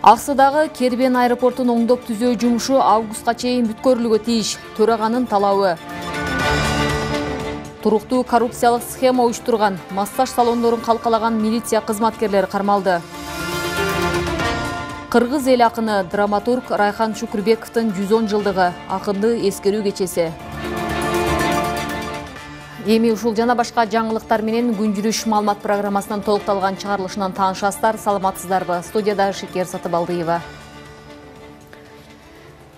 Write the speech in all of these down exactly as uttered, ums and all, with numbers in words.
Аксыдагы Кербен аэропортун оңдоп түзөө жумушу августка чейин бүткөрүлүүгө тийиш. Төраганын талабы. Туруктуу коррупциялык схема уюштурган массаж салондорун калкалаган милиция кызматкерлери кармалды. Кыргыз эл акыны драматург Райхан Шукурбековдун жүз он жылдыгы акынды эскерүү кечеси. Эми ушул жана башка жаңылыктар менен күн жүрүш маалымат программасынан толукталган чыгарылышынан таанышасыздар. Саламатсыздарбы? Студияда Шекер Сатыбалдыева.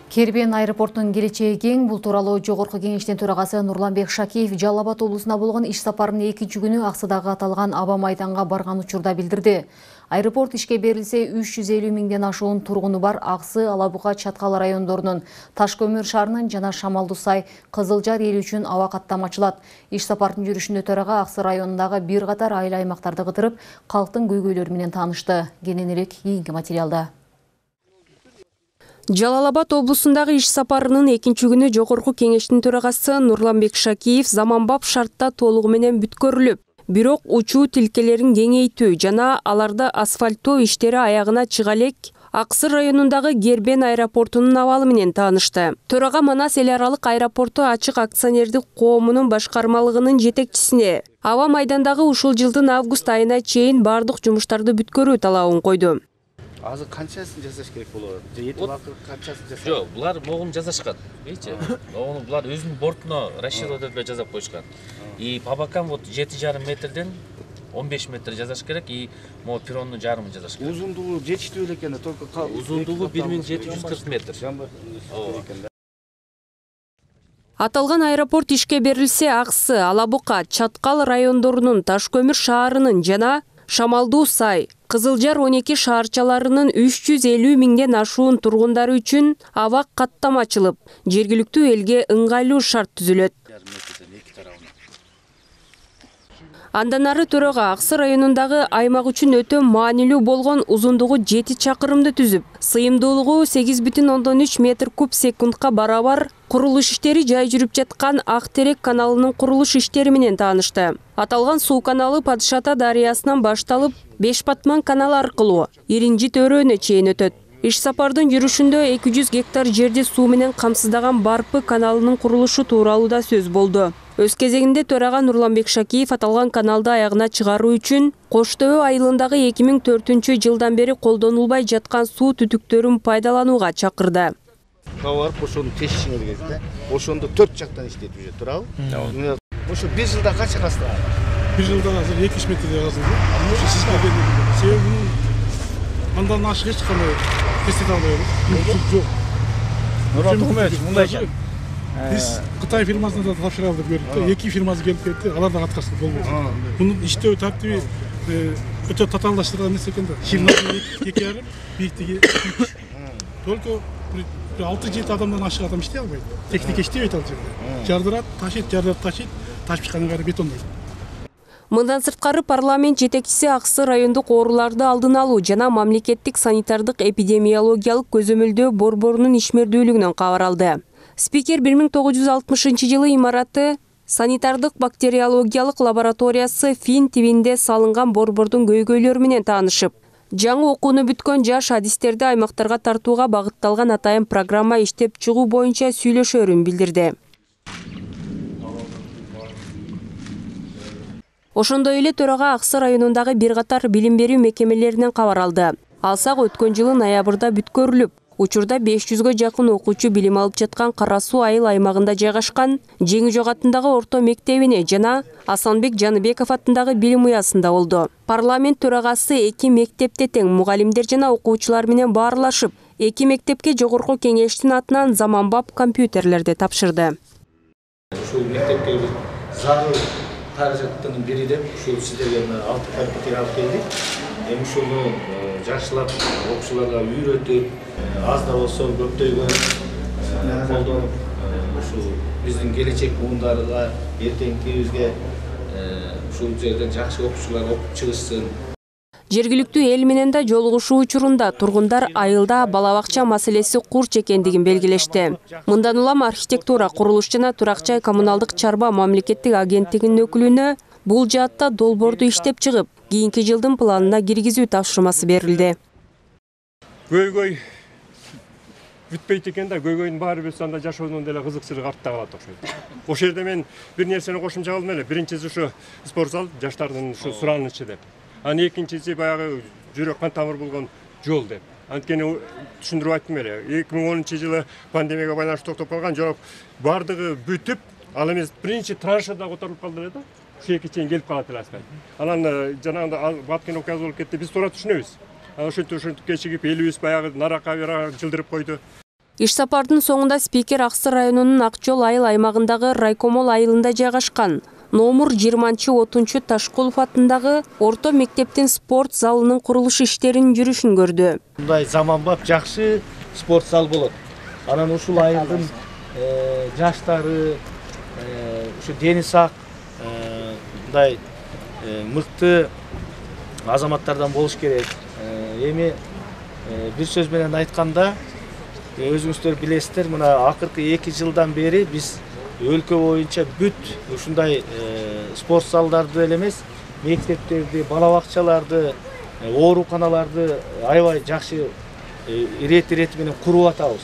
Кербен аэропортунун келечеги кең. Бул тууралуу Жогорку кеңештин төрагасы Нурланбек Шакиев Жалал Абад облусуна болгон иш сапарынын экинчи күнү Аксыдагы аталган аба майданга барган учурда билдирди. Аэропорт ишке берилсе үч жүз элүү миңден ашуун тургуну бар Аксы, Алабуга, Чаткал райондорунун, Ташкөмүр шаарынын жана Шамалдуу Сай, Кызылжар эли үчүн аба каттама ачылат. Иш сапардын жүрүшүндө төрага Аксы районундагы бир катар айыл аймактарды кытырып, калктын көйгөйлөрү менен таанышты. Кененирээк кийинки материалда. Жалал Абад облусундагы иш сапарынын экинчи күнү Жогорку кеңештин төрагасы Нурланбек Шакиев заманбап шартта толугу менен бүткөрүлүп, бирок учуу тилкелерин кеңейтүү жана аларды асфальттоо иштери аягына чыга элек Аксы районундагы Кербен аэропортунун абалы менен таанышты. Төрага Манас эл аралык аэропорту ачык акционердик коомунун башкармалыгынын жетекчисине аба майдандагы ушул жылдын август айына чейин бардык жумуштарды бүткөрүү талабын койду. Азыр канчасын жасаш керек болот? Жети убакыт канчасын жасаш? Жок, булар могун жасашкан. Эйчи. Ону булар өзүнүн бортуна расчет этип жасап коюшкан. И по бокам вот жети жарым метрден он беш метр жасаш керек, и могу перронун жарымын жасаш керек. Узундугу жетиштүү эле экен да, только узундугу бир миң жети жүз кырк метр. Аталган аэропорт ишке берилсе Аксы, Алабуга, Чаткал райондорунун, Ташкөмүр шаарынын жана Шамалдуу Сай, Кызылжар он эки шаарчаларынын үч жүз элүү миңден ашуун тургундары үчүн аба каттама ачылып, жергиликтүү элге ыңгайлуу шарт түзүлөт. Андан ары төрага Аксы районундагы аймак үчүн өтө маанилүү болгон узундугу жети чакырымды түзүп, сыйымдуулугу сегиз бүтүн ондон үч метр куб секундка барабар курулуш иштери жай жүрүп жаткан Ак Терек каналынын курулуш иштери менен таанышты. Аталган суу каналы Падыш Ата дарыясынан башталып, Беш Батман каналы аркылуу Иринжи төрөөнө чейин өтөт. Иш сапардын жүрүшүндө эки жүз гектар жерди суу менен камсыздаган Барпы каналынын курулушу тууралуу да сөз болду. Өз кезегинде төрага Нурланбек Шакиев аталган каналды аягына чыгаруу үчүн Кош Төбө айылындагы эки миң төртүнчү жылдан бери колдонулбай жаткан суу түтүктөрүн пайдаланууга чакырды. Товар ошону тешишиңер кезде, ошондо төрт жактан иштетип жүрөт, туурабы? Ошо бир жылда канча кастыгы? бир жылда азыр эки жүз метрдей казылды. Ошо сизге берген. Себеби андан ашык эч кандай тестет албай жатат. Жок. Нурат Тукумович, мындай экен. Биз Кытай фирмасына да тапшырып бердик. Эки фирмасы келип кетти, алар да каткарса болбойт. Мунун иштөө тартиби өтө татаалдаштырган нерсе экен да. Ширнасы эки жарым, бийиктиги үч. Только алты жети адамдан ашык адам иштей албайт. Техника иштебейт ал жерде. Жардырат, ташыйт, жардырат, ташыйт, ташып чыккандан кайра бетондойт. Мындан сырткары парламент жетекчиси Аксы райондук ооруларды алдын алуу жана мамлекеттик санитардык эпидемиологиялык көзөмөлдөө борборунун ишмердүүлүгүнөн кабар алды. Спикер бир миң тогуз жүз алтымышынчы жылы имараты санитардык бактериологиялык лабораториясы Фин тибинде салынган борбордун көйгөйлөрү менен таанышып, жаңы окууну бүткөн жаш адистерди аймактарга тартууга багытталган атайын программа иштеп чыгуу боюнча сүйлөшөөрүн билдирди. Ошондой эле төрага Аксы районундагы бир катар билим берүү мекемелеринен кабар алды. Алсак өткөн жылы ноябрда бүткөрүлүп, учурда беш жүзгө жакын окуучу билим алып жаткан Кара Суу айыл аймагында жайгашкан Жеңи Жок атындагы орто мектебине жана Асанбек Жаныбеков атындагы билим уясында болду. Парламент төрагасы эки мектепте тең мугалимдер жана окуучулар менен баарлашып, эки мектепке Жогорку кеңештин атынан заманбап компьютерлерди тапшырды. Ушул мектепке зарыл каражаттын бири деп ушул сиздерге алты компьютер алып келдик. Эми ушуну жакшылап окуучуларга үйрөтүп, аз да болсо көптөйгө колдонуп, ушул биздин келечек буундарга, эртеңкибизге ушул жерден жакшы окуучулар окуп чыгышсын. Жергиликтүү эл менен да жолугушуу учурунда тургундар айылда бала бакча маселеси курч экендигин белгилешти. Мындан улам архитектура, курулуш жана турак жай коммуналдык чарба мамлекеттик агенттигинин өкүлүнө бул жаатта долбоорду иштеп чыгып, кийинки жылдын планына киргизүү тапшырмасы берилди. Көйгөй бүтпөйт экен да, көйгөйдүн баары биз анда жашоонун деле кызыкчылыгы артта калат окшойт. Ошол жерде мен бир нерсени кошумча кылдым эле. Биринчиси ушу спорт зал, жаштардын ушу суранычы деп. Анан экинчиси баягы жүрөк кан тамыр болгон жол деп. Анткени түшүндүрүп айттым эле. эки миң онунчу жылы пандемияга байланыштуу токтоп калган жол бардыгы бүтүп, ал эмес биринчи траншада которулуп калды эле да. Ушеке чейин келип калат эле асфальт. Анан жанагында баткен окуя болуп кетти. Биз туура түшүнөбүз. Ошентип ошентип кечигип элибиз баягы наракка жылдырып койду. Иш сапардын соңунда спикер Аксы районунун Ак жол айыл аймагындагы Райкомол айылында жайгашкан номер жыйырманчы отунчу Ташкулов атындагы орто мектептин спорт залынын курулуш иштеринин жүрүшүн көрдү. Мындай заманбап жакшы спорт зал болот. Анан ушул айылдын жаштары, ушу дени сак, мындай мыкты азаматтардан болуш керек. Эми бир сөз менен айтканда, өзүңүздөр билесиздер, мына акыркы эки жылдан бери биз өлкө боюнча бүт ушундай спорт залдарды эле эмес, мектептерди, бала бакчаларды, ооруканаларды аябай жакшы ирет-ирети менен куруп атабыз.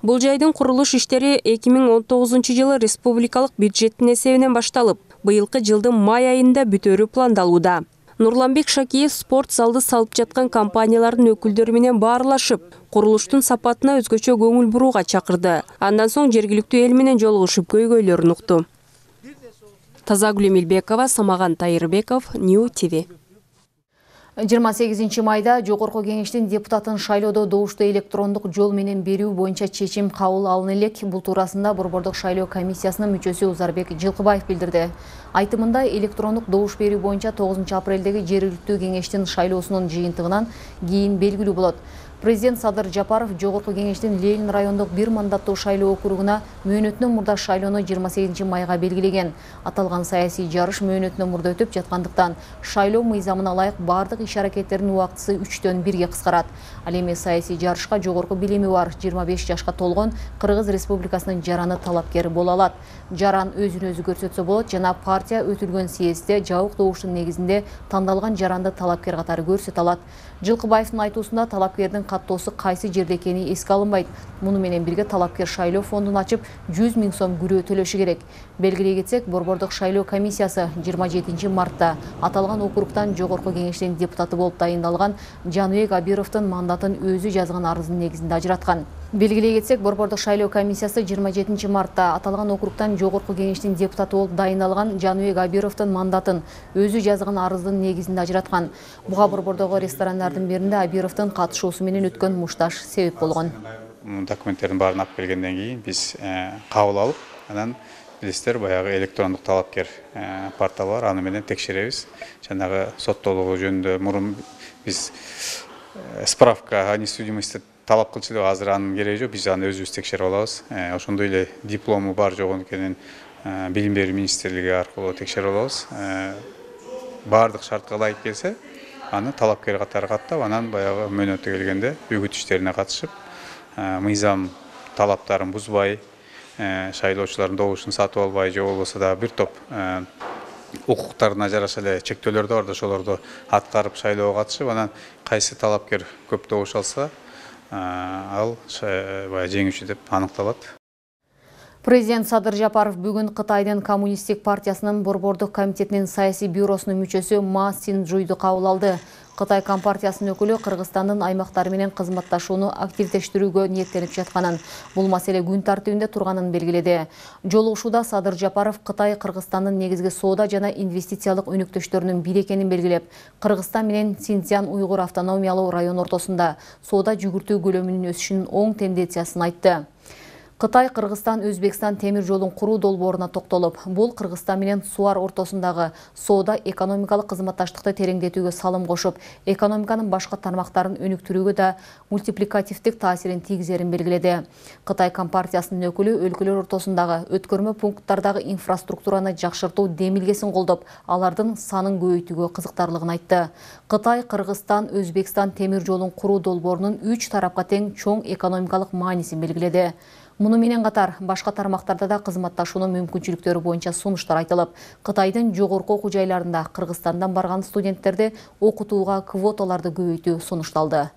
Бул жайдын курулуш иштери эки миң он тогузунчу жылы республикалык бюджеттин эсебинен башталып, быйылкы жылдын май айында бүтөөрү пландалууда. Нурланбек Шакиев спорт залды салып жаткан компаниялардын өкүлдөрү менен баарлашып, курулуштун сапатына өзгөчө көңүл бурууга чакырды. Андан соң жергиликтүү эл менен жолугушуп көйгөйлөрүн укту. Тазагүл Эмилбекова, Самаган Тайырбеков, Нью ТВ. жыйырма сегизинчи майда Жогорку Кеңештин депутатын шайлоодо добушту электрондук жол менен берүү боюнча чечим кабыл алына элек. Бул туурасында Борбордук шайлоо комиссиясынын мүчөсү Узарбек Жылкыбаев билдирди. Айтымында электрондук добуш берүү боюнча тогузунчу апрелдеги жергиликтүү кеңештин шайлоосунун жыйынтыгынан кийин белгилүү болот. Президент Садыр Жапаров Жогорку Кеңештин Ленин райондук бир мандаттуу шайлоо округуна мөөнөтүнөн мурда шайлоону жыйырма сегизинчи майга белгилеген. Аталган саясий жарыш мөөнөтүнөн мурда өтүп жаткандыктан шайлоо мыйзамына ылайык бардык иш-аракеттердин убактысы үчтөн бирге кыскарат. Ал эми саясий жарышка жогорку билими бар жыйырма беш жашка толгон Кыргыз Республикасынын жараны талапкер боло алат. Жаран өзүн өзү көрсөтсө болот жана партия өтүлгөн съездде жабык добуштун негизинде тандалган жаранды талапкер катары көрсөтө алат. Жылкыбаевдин айтуусунда талапкердин каттоосу кайсы жерде экени эске алынбайт. Муну менен бирге талапкер шайлоо фондун ачып жүз миң сом күрөө төлөшү керек. Белгилей кетсек, Борбордук шайлоо комиссиясы жыйырма жетинчи мартта аталган округтан Жогорку Кеңештин депутаты болуп дайындалган Жаныбек Абировдун мандатын өзү жазган арыздын негизинде ажыраткан. Белгилей кетсек, Борбордук шайлоо комиссиясы жыйырма жетинчи мартта аталган округтан Жогорку Кеңештин депутаты болуп дайындалган Жаныбек Абировдун мандатын өзү жазган арыздын негизинде ажыраткан. Буга борбордогу ресторандардын биринде Абировдун катышуусу менен өткөн мушташ себеп болгон. Документтердин баарын алып келгенден кийин биз кабыл алып, анан билесиздер, баягы электрондук талапкер портал бар, аны менен текшеребиз. Жанагы соттолугу жөнүндө мурун биз справка о несудимости талап кылчу деп, азыр анын кереги жок, биз аны өзүбүз текшерип алабыз. Ошондой эле диплому бар жок экенин билим берүү министрлиги аркылуу текшерип алабыз. Бардык шартка ылайык келсе, аны талапкер катары каттап, анан баягы мөөнөтү келгенде үгүт иштерине катышып, мыйзам талаптарын бузбай, шайлоочулардын добушун сатып албай, же болбосо да бир топ укуктарына жараша эле чектөөлөр да бар, ошолорду аткарып шайлоого катышып, анан кайсы талапкер көп добуш алса, ал баягы жеңүүчү деп аныкталат. Президент Садыр Жапаров бүгүн Кытайдын Коммунисттик партиясынын Борбордук комитетинин саясий бюросунун мүчөсү Ма Синжуйду кабыл алды. Кытай компартиясынын өкүлү Кыргызстандын аймактары менен кызматташууну активдештирүүгө ниеттенип жатканын, бул маселе күн тартибинде турганын белгиледи. Жолугушууда Садыр Жапаров Кытай Кыргызстандын негизги соода жана инвестициялык өнөктөштөрүнүн бири экенин белгилеп, Кыргызстан менен Синьцзян уйгур автономиялуу район ортосунда соода жүгүртүү көлөмүнүн өсүшүнүн оң тенденциясын айтты. Кытай, Кыргызстан, Өзбекстан темир жолун куруу долбооруна токтолуп, бул Кыргызстан менен Суар ортосундагы соода экономикалык кызматташтыкты тереңдетүүгө салым кошуп, экономиканын башка тармактарын өнүктүрүүгө да мультипликативдик таасирин тийгизерин белгиледи. Кытай компартиясынын өкүлү өлкөлөр ортосундагы өткөрмө пункттардагы инфраструктураны жакшыртуу демилгесин колдоп, алардын санын көбөйтүүгө кызыктарлыгын айтты. Кытай, Кыргызстан, Өзбекстан темир жолун куруу долбоорунун үч тарапка тең чоң экономикалык маанисин белгиледи. Муну менен катар башка тармактарда да кызматташуунун мүмкүнчүлүктөрү боюнча сунуштар айтылып, Кытайдын жогорку окуу жайларында Кыргызстандан барган студенттерди окутууга квоталарды көбөйтүү сунушталды.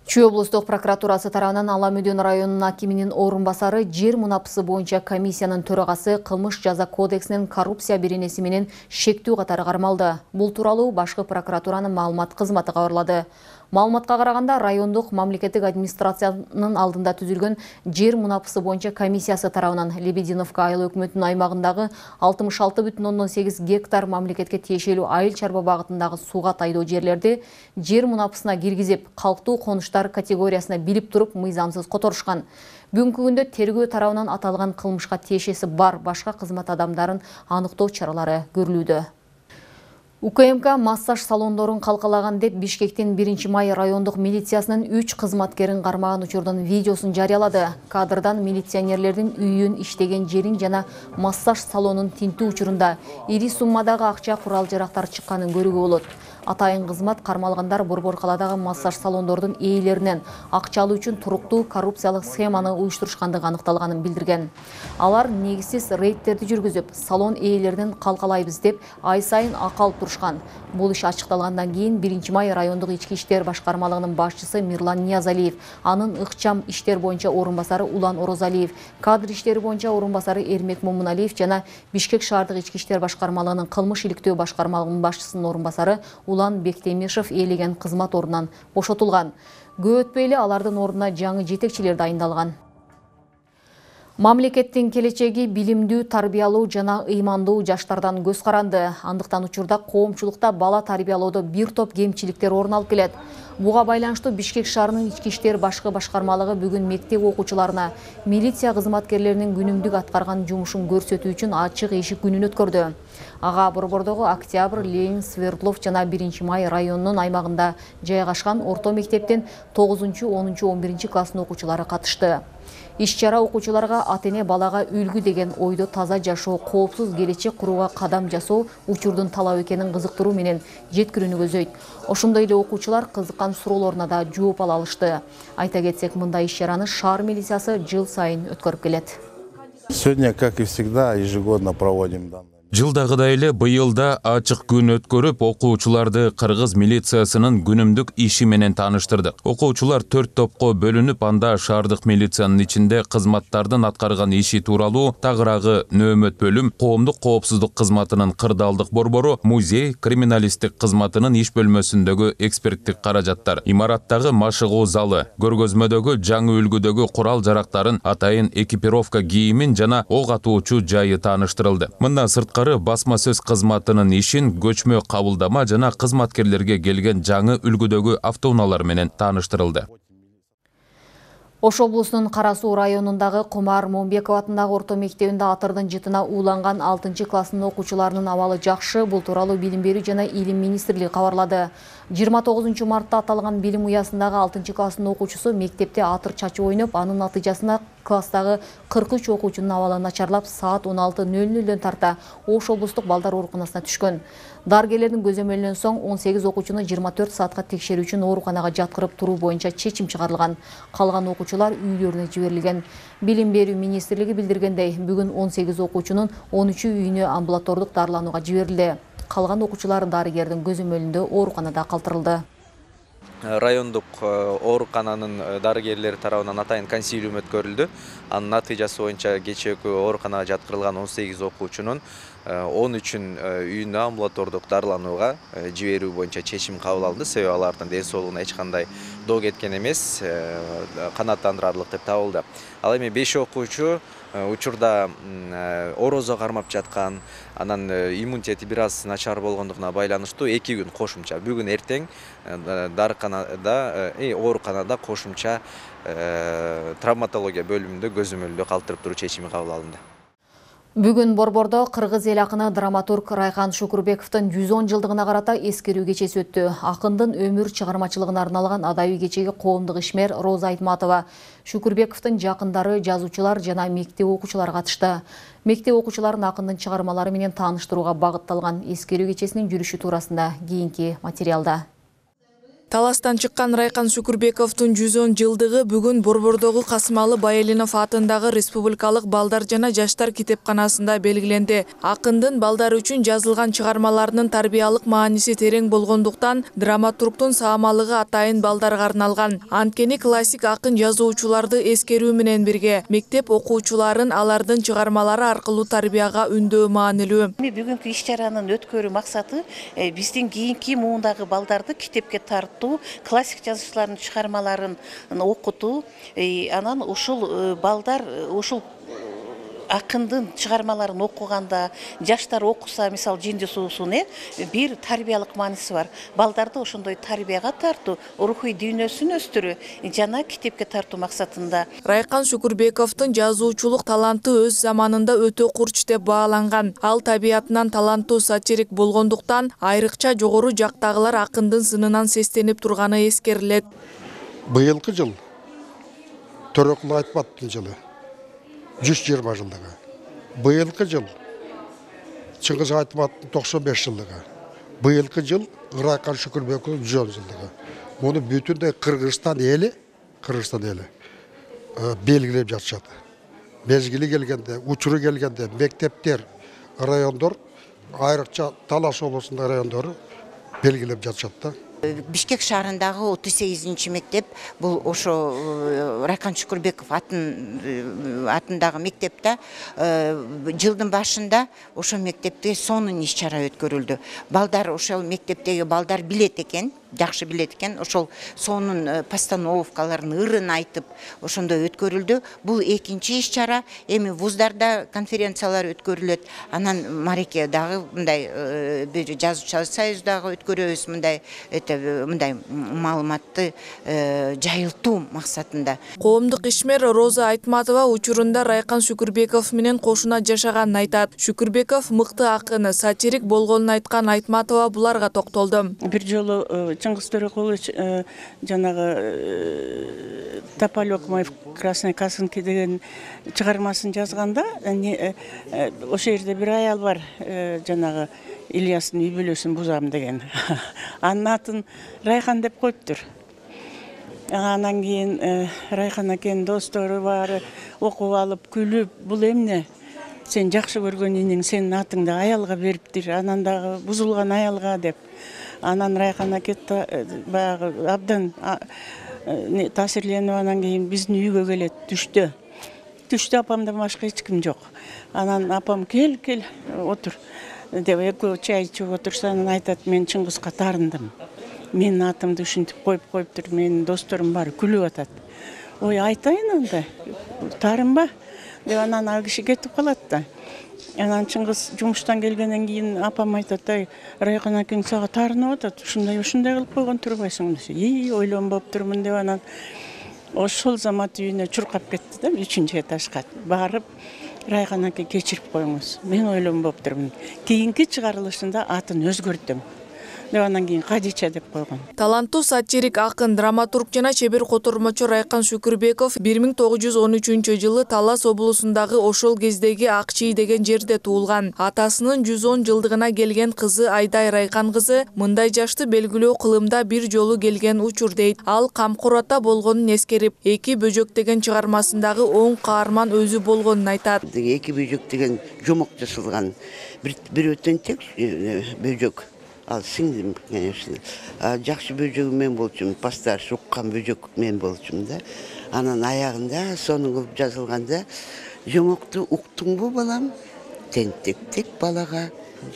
Чүй облустук прокуратурасы тарабынан Ала Мөдөн районунун акиминин орун басары жер мунапысы боюнча комиссиянын төрагасы кылмыш жаза кодексинин коррупция беренеси менен шектүү катары кармалды. Бул тууралуу башкы прокуратуранын маалымат кызматы кабарлады. Маалыматка караганда райондук мамлекеттик администрациянын алдында түзүлгөн жер мунапысы боюнча комиссиясы тарабынан Лебединовка айыл өкмөтүнүн аймагындагы алтымыш алты бүтүн ондон сегиз гектар мамлекетке тиешелүү айыл чарба багытындагы сууга тайдоо жерлерди жер мунапысына киргизип, калктуу конуштар категориясына билип туруп мыйзамсыз которушкан. Бүгүнкү күндө тергөө тарабынан аталган кылмышка тиешеси бар башка кызмат адамдарын аныктоо чаралары көрүлүүдө. УКМК массаж салондорун калкалаган деп Бишкектин биринчи май райондук милициясынын үч кызматкерин кармаган учурдун видеосун жарыялады. Кадрдан милиционерлердин үйүн, иштеген жерин жана массаж салонун тинтүү учурунда ири суммадагы акча, курал-жарактар чыкканын көрүүгө болот. Атайын кызмат кармалгандар Борбор каладагы массаж салондордун ээлеринен акча алуу үчүн туруктуу коррупциялык схеманы уюштурушкандыгы аныкталганын билдирген. Алар негизсиз рейдтерди жүргүзүп, салон ээлеринен калкалайбыз деп ай сайын акы алып турушкан. Бул иш ачыкталгандан кийин биринчи май райондук ички иштер башкармалыгынын башчысы Мирлан Ниязалиев, анын ыкчам иштер боюнча орун басары Улан Орозалиев, кадр иштери боюнча орун басары Эрмек Момуналиев жана Бишкек шаардык ички иштер башкармалыгынын кылмыш иликтөө башкармалыгынын башчысынын орун басары Улан Бектемишев ээлеген кызмат ордунан бошотулган. Көп өтпөй эле алардын ордуна жаңы жетекчилер дайындалган. Мамлекеттин келечеги билимдүү, тарбиялуу жана ыймандуу жаштардан көз каранды. Андыктан учурда коомчулукта бала тарбиялоодо бир топ кемчиликтер орун алып келет. Буга байланыштуу Бишкек шаарынын ички иштер башкы башкармалыгы бүгүн мектеп окуучуларына милиция кызматкерлеринин күнүмдүк аткарган жумушун көрсөтүү үчүн ачык эшик күнүн өткөрдү. Ага Борбордогу Октябрь, Ленин, Свердлов жана биринчи май районунун аймагында жайгашкан орто мектептин тогузунчу, онунчу, он биринчи класстын окуучулары катышты. Иш-чара окуучуларга ата-эне балага үлгү деген ойдо таза жашоо, коопсуз келечек курууга кадам жасоо учурдун талап экенин кызыктыруу менен жеткирүүнү көзөйт. Ошондой эле окуучулар кызыккан суроолоруна да жооп ала алышты. Айта кетсек, мындай иш-чараны шаар милициясы жыл сайын өткөрүп келет. Сегодня, как и всегда, ежегодно проводим данные. Жылдагыдай эле быйыл да ачык күн өткөрүп, окуучуларды кыргыз милициясынын күнүмдүк иши менен тааныштырдык. Окуучулар төрт топко бөлүнүп, анда шаардык милициянын ичинде кызматтардын аткарган иши тууралуу тагыраагы нөөмөт бөлүм, коомдук коопсуздук кызматынын кырдаалдык борбору, музей, криминалисттик кызматынын иш бөлмөсүндөгү эксперттик каражаттар, имараттагы машыгуу залы, көргөзмөдөгү жаңы үлгүдөгү курал-жарактарын, атайын экипировка кийимин жана ок атуучу жайы тааныштырылды. Мындан сырткары басма сөз кызматынын ишин, көчмө кабылдама жана кызматкерлерге келген жаңы үлгүдөгү автоунаалар менен тааныштырылды. Ош облусунун Кара Суу районундагы Кумар Момбеков атындагы орто мектебинде атырдын жытына ууланган алтынчы класстын окуучуларынын абалы жакшы. Бул тууралуу Билим берүү жана Илим министрлиги кабарлады. жыйырма тогузунчу мартта аталган билим уясындагы алтынчы класстын окуучусу мектепте атыр чачып ойноп, анын натыйжасында класстагы кырк үч окуучунун абалы начарлап, саат он алты нөл нөлдөн тарта Ош облустук балдар ооруканасына түшкөн. Дарыгерлердин көзөмөлүнөн соң он сегиз окуучуну жыйырма төрт саатка текшерүү үчүн ооруканага жаткырып туруу боюнча чечим чыгарылган. Калган окуучулар үйлөрүнө жиберилген. Билим берүү министрлиги билдиргендей, бүгүн он сегиз окуучунун он үчү үйүнө амбулатордук дарыланууга жиберилди. Калган окуучулар дарыгердин көзөмөлүндө ооруканада калтырылды. Райондук оорукананын дарыгерлери тарабынан атайын консилиум өткөрүлдү. Анын натыйжасы боюнча кечээкү ооруканага жаткырылган он сегиз окуучунун он үчүн үйүнө амбулатордук дарыланууга жиберүү боюнча чечим кабыл алынды. Себеби алардын ден соолугуна эч кандай доо кеткен эмес, канааттандырарлык деп табылды. Ал эми беш окуучу учурда орозо кармап жаткан, анан иммунитети бир аз начар болгондугуна байланыштуу эки күн кошумча бүгүн эртең дарыканада, ооруканада кошумча травматология бөлүмүндө көзөмөлдө калтырып туруу чечими кабыл алынды. Бүгүн Борбордо кыргыз эл акыны драматург Райкан Шукурбековдун жүз он жылдыгына карата эскерүү кечеси өттү. Акындын өмүр чыгармачылыгына арналган адабий кечеге коомдук ишмер Роза Айтматова, Шукурбековдун жакындары, жазуучулар жана мектеп окуучулары катышты. Мектеп окуучуларын акындын чыгармалары менен тааныштырууга багытталган эскерүү кечесинин жүрүшү туурасында кийинки материалда. Таластан чыккан Райкан Шукурбековдун жүз он жылдыгы бүгүн Борбордогу Касымалы Байалинов атындагы Республикалык балдар жана жаштар китепканасында белгиленди. Акындын балдар үчүн жазылган чыгармаларынын тарбиялык мааниси терең болгондуктан драматургдун саамалыгы атайын балдарга арналган. Анткени классик акын жазуучуларды эскерүү менен бирге мектеп окуучуларын алардын чыгармалары аркылуу тарбияга үндөө маанилүү. Бүгүнкү иш-чаранын өткөрүү максаты биздин кийинки муундагы балдарды китепке тартуу, классик жазуучулардын чыгармаларын окутуу, анан ушул балдар ушул акындын чыгармаларын окуганда, жаштар окуса, мисалы Жинди суусун, бир тарбиялык мааниси бар. Балдарды ошондой тарбияга тартуу, рухий дүйнөсүн өстүрүү жана китепке тартуу максатында. Райкан Шукурбековдун жазуучулук таланты өз заманында өтө курч деп бааланган. Ал табиятынан таланттуу сатирик болгондуктан айрыкча жогору жактагылар акындын сынынан сестенип турганы эскерилет. Быйылкы жыл Төрөкул Айтматовдун жылы. жүз жыйырма жылдыгы. Быйылкы жыл Чыңгыз Айтматовдун токсон беш жылдыгы. Быйылкы жыл Райкан Шукурбековдун жүз он жылдыгы. Муну бүтүндөй Кыргызстан эли, Кыргызстан эли белгилеп жатышат. Мезгили келгенде, учуру келгенде мектептер, райондор, айрыкча Талас облусунун райондору белгилеп жатышат да. Бишкек шаарындагы отуз сегизинчи мектеп бул ошо Райкан Шукурбеков атындагы мектепте жылдын башында ошо мектепте сонун иш-чара өткөрүлдү. Балдар ошол мектептеги балдар билет экен, жакшы билет экен, ошол сонун постановкаларын ырын айтып ошондой өткөрүлдү. Бул экинчи иш-чара. Эми вуздарда конференциялар өткөрүлөт. Анан Мареке дагы мындай бир жазуучулар союздагы өткөрөбүз, мындай мындай маалыматты жайылтуу максатында. Коомдук ишмер Роза Айтматова учурунда Райкан Шукурбеков менен кошуна жашаганын айтат. Шукурбеков мыкты акын, сатирик болгонун айткан Айтматова буларга токтолду. Бир жолу Чыңгыз Төрөкулович жанагы Тополёк мой в красной косынке деген чыгармасын жазганда, ошол жерде бир аял бар, жанагы Ильястын үй бүлөсүн бузам деген. Анын атын Райхан деп коюптур. Анан кийин Райхан экен достору баары окуп алып, күлүп, бул эмне? Сен жакшы көргөн иниң сенин атыңды аялга бериптир, анан дагы бузулган аялга деп. Анан Райхан акет баягы абдан таасирленип анан кийин биздин үйгө келет түштө. Түштө апамдан башка эч ким жок. Анан апам кел, кел, отур деп экөө чай ичип отурса, анан айтат, мен Чыңгызга таарындым. Менин атымды ушинтип коюп коюптур, менин досторум баары күлүп атат. Ой, айтайын анда, таарынба деп анан ал киши кетип калат да. Анан Чыңгыз жумуштан келгенден кийин апам айтат, ай, Райкан акең сага таарынып атат, ушундай ушундай кылып койгон турбайсың десе. И, ойлонбоптурмун деп анан ошол замат үйүнө чуркап кетти да, үчүнчү этажга барып, Райкан аке кечирип коюңуз, мен ойлонбоптурмун. Кийинки чыгарылышында атын өзгөртөм деп анан кийин Кадича деп койгон. Таланттуу сатирик акын, драматург жана чебер котормочу Райкан Шукурбеков бир миң тогуз жүз он үчүнчү жылы Талас облусундагы ошол кездеги Акчий деген жерде туулган. Атасынын жүз он жылдыгына келген кызы Айдай Райкан кызы мындай жашты белгилөө кылымда бир жолу келген учур дейт. Ал камкор ата болгонун эскерип, Эки бөжөк деген чыгармасындагы оң каарман өзү болгонун айтат. Эки бөжөк деген жомок жасалган бир өтөн тек бөжөк. Ал сиңдим, конечно. Жакшы бөжөгү мен болчумун, пастарш уккан бөжөк мен болчумун да. Анан аягында сонун кылып жазылганда, жомокту уктуңбу балам? тентектик балага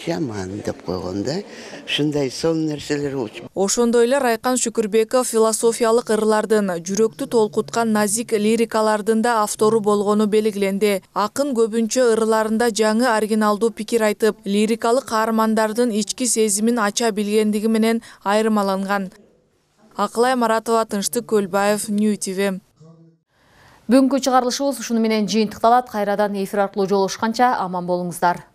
жаман деп койгонда ушундай сонун нерселер болчу. Ошондой эле Райкан Шүкүрбеков философиялык ырлардын, жүрөктү толкуткан назик лирикалардын да автору болгону белгиленди. Акын көбүнчө ырларында жаңы оригиналдуу пикир айтып, лирикалык каармандардын ички сезимин ача билгендиги менен айырмаланган. Акылай Маратова, Тынчтык Көлбаев, Нью ти ви. Бүгүнкү чыгарылышыбыз ушуну менен жыйынтыкталат. Кайрадан эфир аркылуу жолугушканча аман болуңуздар.